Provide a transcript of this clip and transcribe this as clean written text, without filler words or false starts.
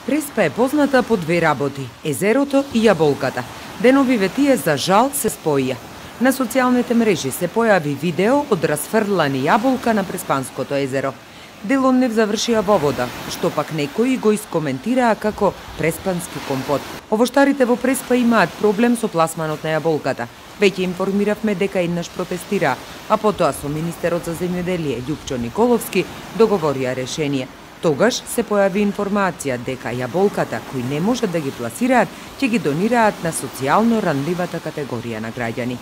Преспа е позната по две работи – езерото и јаболката. Деновиве тие за жал се споија. На социјалните мрежи се појави видео од расфрлани јаболка на Преспанското езеро. Дел од нив завршија во вода, што пак некои го искоментираа како преспански компот. Овоштарите во Преспа имаат проблем со пласманот на јаболката. Веќе информиравме дека еднаш протестираа, а потоа со министерот за земјоделие Љупчо Николовски договорија решение. Тогаш се појави информација дека јаболката кои не можат да ги пласираат, ќе ги донираат на социјално ранливата категорија на граѓани.